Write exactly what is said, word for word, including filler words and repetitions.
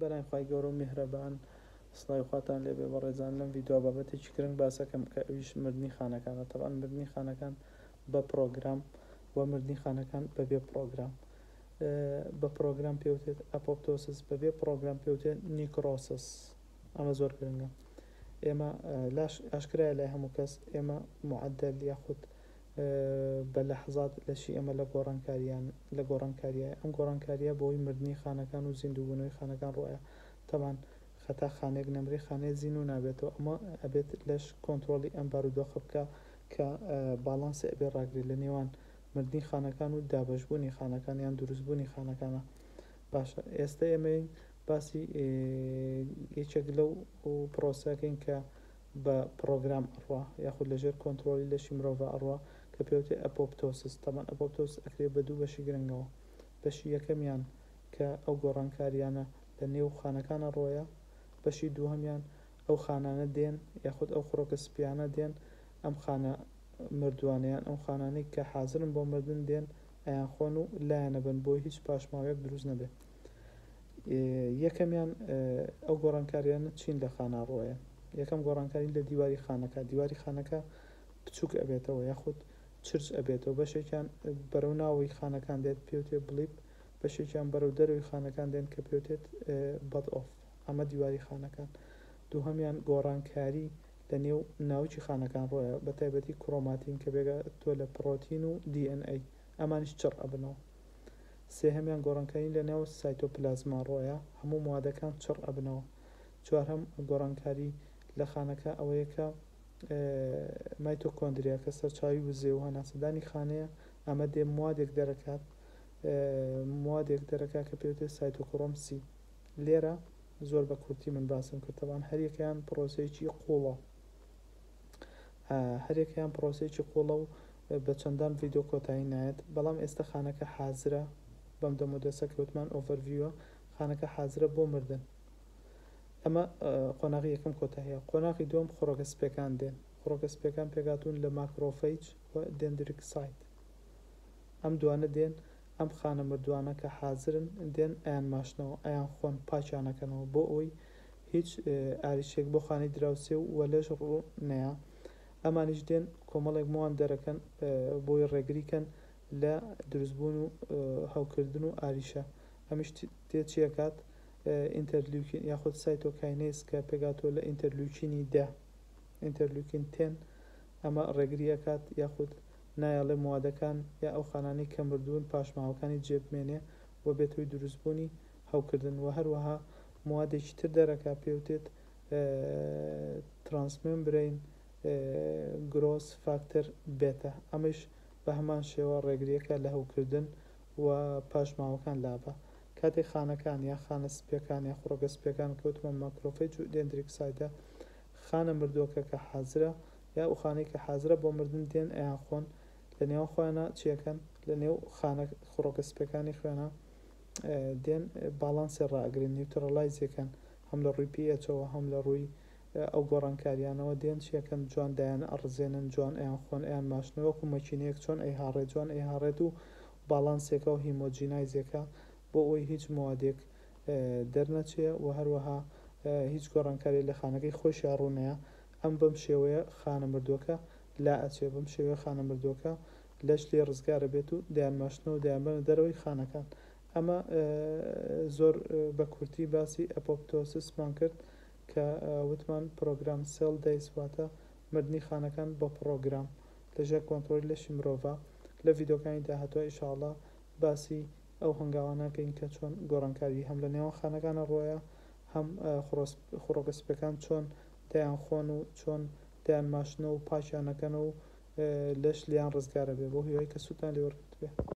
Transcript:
بەناوی خوای گەورە و میهرەبان. سڵاوی خواتان لێبێ بەڕێزان. لەم ڤیدیۆ بابەتێکی گرنگ باسەکەم کە ئەویش مردنی خانەکانە. تەبعەن مردنی خانەکان بە پڕۆگرام و مردنی خانەکان بەبێ پڕۆگرام. بە پڕۆگرام پێوتێت apoptosis، بەبێ پڕۆگرام پێوتێت necrosis. ئەمە زۆر گرنگە. ئێمە لاش ئاشکرایە لای هەموو کەس، ئێمە معدل یاخود بە لەحزات لەشی ئێمە لە گۆڕانکاریان لە گۆڕانکاریە. ئەم گۆڕانکاریە بۆی مردنی خانەکان و زیندووبوونەوەی خانەکان ڕۆیە. تەبعەن خەتا خانێک نەمری خانەی زیندوو نابێتەوە. ئەمە ئەبێت لەش کۆنترۆڵی ئەم بارودۆخە بکە کە باڵانسی ئەبێ ڕاگرێت لە نێوان مردنی خانەکان و دابەشبوونی خانەکان یان دروستبوونی خانەکانە. باشە، ئێستا ئێمە باسی یەکێک لەو پرۆسەکەین کە بە پڕۆگرام ئەڕوا یاخود لەژێر کۆنترۆڵی لەشی مرۆڤ ئەڕوا کە پێوتێ apoptosis. تەبعەن apoptosis ئەکرێت بە دوو بەشی گرنگەوە. بەشی یەکەمیان کە ئەو گۆڕانکاریانە لە نێو خانەکانە ڕۆیە، بەشی دووهەمیان ئەو خانانە دێن یاخود ئەو خڕۆکە سپیانە دێن ئەم خانە مردووانەیان ئەو خانانەی کە حازرن بۆ مردن دێن ئەیان خۆن و لایەنە بن بۆی هیچ پاشماوەیەک دروست نەبێت. یەکەمیان ئەو گۆڕانکاریانە چین لە خانە ڕۆیە. یەکەم گۆڕانکاری لە دیواری خانەکە، دیواری خانەکە بچووک ئەبێتەوە یاخود چرچ ئەبێتەوە. بەشێکیان بەرەو ناوەی خانەکان دێت پێوتێ bleb، بەشێکیان بەرەو دەرەوەی خانەکان دێن کە پێوتێت bud off. ئەمە دیواری خانەکان. دووهەمیان گۆڕانکاری لە نێو ناوکی خانەکان ڕۆیە، بە تایبەتی chromatin کە پێکهاتووە لە پرۆتین و DNA، ئەمانیش چڕ ئەبنەوە. سێهەمیان گۆڕانکاری لە نێو سایتۆپلازما ڕۆیە، هەموو موادەکان چڕ ئەبنەوە. چوارهەم گۆڕانکاری لە خانەکە ئەوەیە کە مایتۆکۆندریا کە سەرچاوی وزێ و هەناسەدانی خانەیە، ئەمە دێ موادێک دەرەکات، موادێک دەرەکات کە پێوتێت cytochrome C. لێرە زۆر بە کورتی من باسم کرد. تەبعەن هەریەکەیان پرۆسەیەکی قوڵە، هەریەکەیان پرۆسەیەکی قوڵە و بە چەندان ڤیدیۆ کۆتایی نایەت. بەڵام ئێستا خانەکە حازرە بەم دەمودەسە کە وتمان overview ە، خانەکە حازرە بۆ مردن. ئەمە قۆناغی یەکەم کۆتاییە. قۆناغی دووەم خڕۆکە سپیەکان دێن. خڕۆکە سپیەکان پێکهاتوون لە macrophage و dendritic cyte. ئەم دوانە دێن ئەم خانە مردووانە کە حازرن دێن ئەیان ماشنەوە، ئەیان خۆن، پاکیانەکەنەوە بۆ ئەوەی هیچ ئاریشێک بۆ خانەی دراوسێ و لەش ڕوو نەیە. ئەمانیش دێن کۆمەڵێک موان دەرەکەن بۆی ڕێگریکەن لە دروستبوون و هەوکردن و ئاریشە. ئەمیش تێ چیەکات interleukin یاخود cytokines کە پێکهاتووە لە interleukin ی دە، interleukin ten، ئەمە ڕێگری ئەکات یاخود نایەڵێ موادەکان یا ئەو خانانەی کە مردوون پاشماوەکانی جێبمێنێ و بێتەوەی دروستبوونی هەوکردن. و هەروەها موادێکی تر دەرەکا پێوتێت transmembrane growth factor beta، ئەمەش بە هەمان شێوە ڕێگریەکە لە هەوکردن و پاشماوەکان لابە. کاتێک خانەکان یا خانە سپیەکان یا خڕۆکە سپیەکان کەوتمە macrophage و dendritic cyte ە، خانە مردووەکە کە حازرە یا ئەو خانەی کە حازرە بۆ مردن دێن ئەیان خۆن لە نێوان خۆیانە چیەکەن لە نێو خانە خڕۆکە سپیەکانی خوێنە دێن باڵانسی ڕاگرن، neutralize ەکەن، هەم لە ڕووی pH ەوە هەم لە ڕووی ئەو گۆڕانکاریانەوە دێن چیەکەن جوان دایان ئەڕزێنن، جوان ئەیان خۆن، ئەیان ماشنەوە وەکو مەکینەیەک چۆن ئەیهاڕێت جوان ئەیهاڕێت و باڵانسێکە و homogenize ێکە بۆ ئەوەی هیچ موادێک دەرنەچێ و هەروەها هیچ گۆڕانکاری لە خانەکەی خۆشیان ڕوونەیە. ئەم بەم شێوەیە خانە مردووەکە لا ئەچێ، بەم شێوەیە خانە مردووەکە لەش لێ ڕزگارە بێت و دەیان ماشنەوە و دەیانبەنە دەرەوەی خانەکان. ئەمە زۆر بە کورتی باسی apoptosis مان کرد کە وتمان programmed cell death، واتە مردنی خانەکان بە پڕۆگرام لەژێر کۆنترۆلی لەشی مرۆڤە. لە ڤیدیۆکانی داهاتوە ئینشاءڵڵا باسی ئەو هەنگاوانەکەین کە چۆن گۆڕانکاری هەم لە نێوان خانەکانە ڕۆیە، هەم خڕۆکە سپیەکان چۆن دەیان خۆن و چۆن دەیان ماشنەوە و پاکیانەکەنەوە و لەش لیان ڕزگارە بێ. بۆ هیوای کە سوودتان لێ وەرگرت بێ.